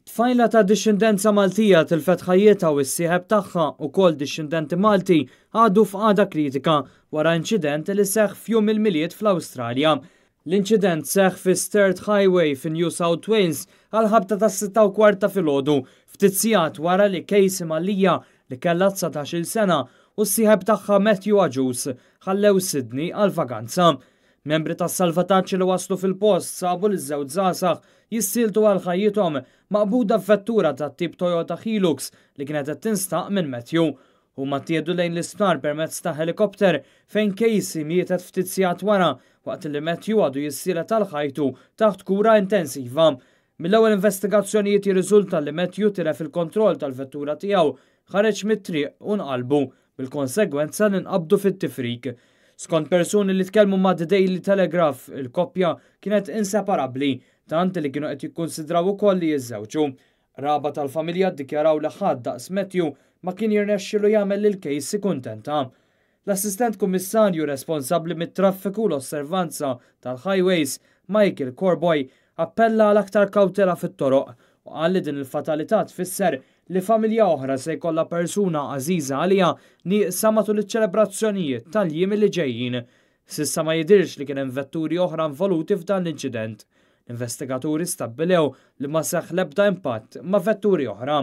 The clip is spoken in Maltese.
Tfajla ta' dixxindenza Maltija tilfet ħajjitha u s-sieħeb tagħha, ukoll dixxindenti Malti, għadu f'qagħda kritika wara inċident li seħħ f'Jum il-Milied fl-Awstralja. L-inċident seħħ fi Sturt Highway fi New South Wales għall-ħabta tas-6:15 ta' filgħodu, ftit sigħat wara li Casey Mallia, li kellha 19-il sena, u s-sieħeb tagħha Matthew Agius ħallew Sydney għal vaganza. Membri tas-salvataġġ li waslu fil-post sabu liż-żewġ żgħażagħ jissieltu għal ħajjithom maqbuda f'vettura tat-tip Toyota Hilux li kienet qed tinstaq minn Matthew. Huma ttieħdu lejn l-isptar permezz ta' ħelikopter fejn Casey mietet ftit sigħat wara waqt li Matthew għadu jissielet għal ħajtu taħt kura intensiva. Mill-ewwel investigazzjonijiet jirriżulta li Matthew tilef il-kontroll tal-vettura tiegħu, ħareġ mit-triq u nqalbu, bil-konsegwenza li nqabdu fit-tifrik. Skont persuni li tkellmu ma' The Daily Telegraph, il-koppja kienet inseparabbli, tant li kienu qed jikkunsidraw ukoll li jiżżewġu. Qraba tal-familja ddikjaraw li ħadd daqs Matthew ma kien jirnexxilu jagħmel lil Casey kuntenta. L-Assistent Kummissarju responsabbli mit-traffiku u l-osservanza tal-highways, Michael Corboy, appella għal aktar kawtela fit-toroq u qal li din il-fatalità tfisser li familja oħra se jkollha persuna għażiża għaliha nieqsa matul iċ-ċelebrazzjonijiet tal-jiem li ġejjin. S'issa ma jidhirx li kien hemm vetturi oħra involuti f'dan l-inċident. L-investigaturi stabbilew li ma seħħ l-ebda impatt ma' vetturi oħra.